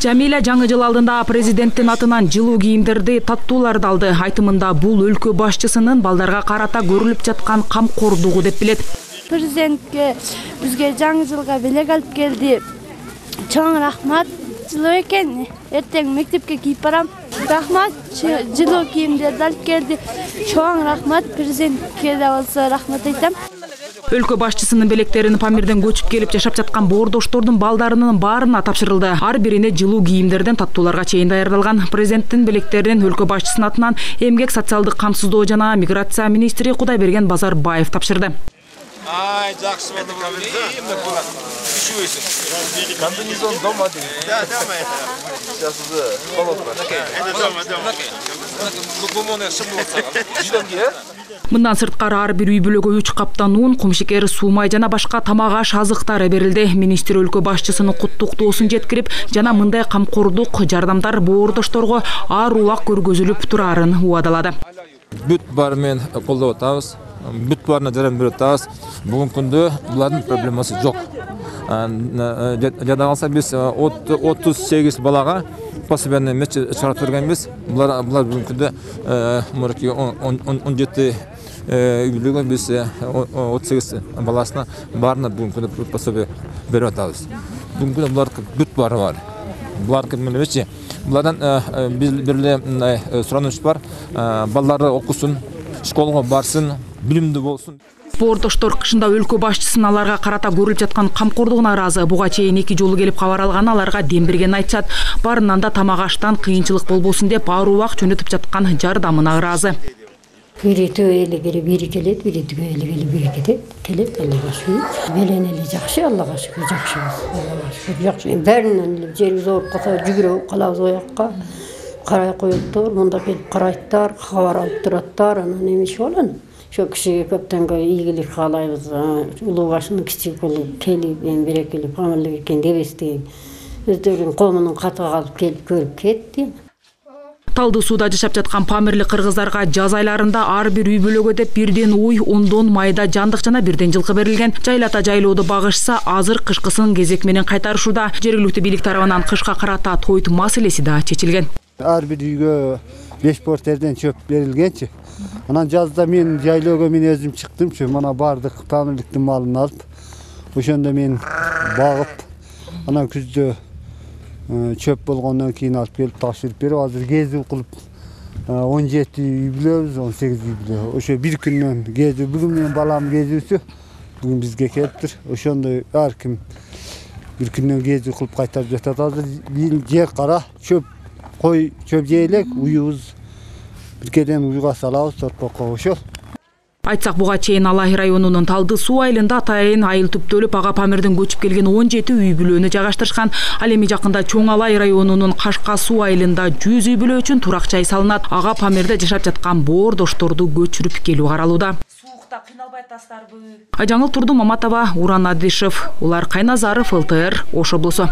Жамиля жаңы жыл алдында президенттин атынан жылуу кийимдерди, таттууларды алды. Айтымында бул өлкө башчысынын балдарга карата көрүлүп жаткан камкордугу деп билет. Президентке бизге жаңы жылга белек алып келди. Чоң рахмат. Жылуу экен. Эртең мектепке кийип барам. Рахмат. Жылуу кийимдерди алып келди. Чоң рахмат. Президентке да болсо рахмат айтам. Өлкө башчысынын белектерин Памирден көчүп келип жашап жаткан боордоштордун балдарынын баарына тапшырылды. Ар бирине жылуу кийимдерден таттууларга чейин даярдалган. Президенттин белектерин өлкө башчысынын атынан Эмгек социалдык камсыздоо жана миграция министри Кудайберген Базарбаев тапшырды. Ай, жакшы болду. Комбинезон дома дейм. Да, дома это. Сейчас уже холодно. Это дома. Мындан сырткары ар бир үй бүлөгө 3 каптан ун, кумшекер, суумай жана башка тамак аш азыктары берилди. Министр өлкө башчысынын куттуктоосун жеткирип, жана мындай камкордук жардамдар боордошторго ар убак көргөзүлүп турарын убадалады. Бүт баары менен колдоп атабыз. Бүт баарына жардам берип атабыз. Бүгүнкү күндө булардын проблемасы жок. Жада калса биз 38 балага пособияны чыгарып бергенбиз. Булар бүгүнкү күндө 17 үй бүлөгө биз 38 баласына баарына бүгүнкү күндө пособия берип атабыз. Бүгүнкү күндө булар бүт баары бар. Булар эмнечи? Булардан бир эле сурануч бар. Балдары окусун, школго барсын, билимдүү болсун. Боордоштор кышында өлкө башчысынын аларга карата көрүлүп жаткан камкордугуна ыраазы. Буга чейин 2 жолу келип кабар алган, аларга дем бергенин айтышат. Барынан да тамак аштан кыйынчылык болбосун деп ар убак жөнөтүп жаткан жардамына ыраазы. Бири төбөлө келип, бири келет, бири түгөлө келип, бири кетет. Келет, Аллага шүгүр. Менен эле жакшы, Аллага шүгүр, жакшыбыз. Аллага шүгүр, жакшы. Бәринен эле жерибиз ооруп калса, жүгүрүп калабыз оякка. Карай коюптур, мында келип карайттар, кабар алып тураттар, анан эмне болот? Şu kişiye köpten iyilik kalayız, ulu başının küçük olup kelip, berekeli, pamirlik eken devesteyin. Özdörün komunun katığı alıp kelip görüp ketdi. Талды сууда жашап жаткан памирлик кыргыздарга жаз айларында ар бир үй бүлөгө деп бирден уй, 10 майда жандык жана бирден жылкы берилген. Жайлата жайлоодо багышса, азыр кышкысын кезек менен кайтарышууда. Жергиликтүү бийлик тарабынан кышка карата тойт маселеси да чечилген. Ар бир үйгө 5 портерден чөп берилгенчи. Анан жазда мен жайлоого мен өзүм чыктымчы, мана бардык памирликтин малын алып, ошондо мен багып, анан күздө чөп болгондон кийин алып келип тапшырып берип, азыр кезүү кылып 17 үй бүлөбүз, 18 үй бүлө. Ошо бир күндөн кезүү, бүгүн менин балам кезүүсү, бүгүн бизге келиптир. Ошондой ар ким бир күндөн кезүү кылып кайтарып жатат. Азыр жер кара, чөп кой, чөп жейлек, уюбуз биркеден уйга салабыз, торпокко ошол. Айтсак, буга чейин Алай районунун Талды суу айылында атайын айыл түптөлүп ага Памирден көчүп келген 17 үй бүлөнү жайгаштырышкан. Ал эми жакында Чоң Алай районунун Кашка суу айылында 100 үй бүлө үчүн турак жай салынат. Ага Памирде жашап жаткан боордошторду көчүрүп келүү каралууда. Суукта кыйналбай атасыздарбы? Ажаңыл Турду Маматова, Уран Адишев, Улар Кайназаров, ЛТР, Ош облусу.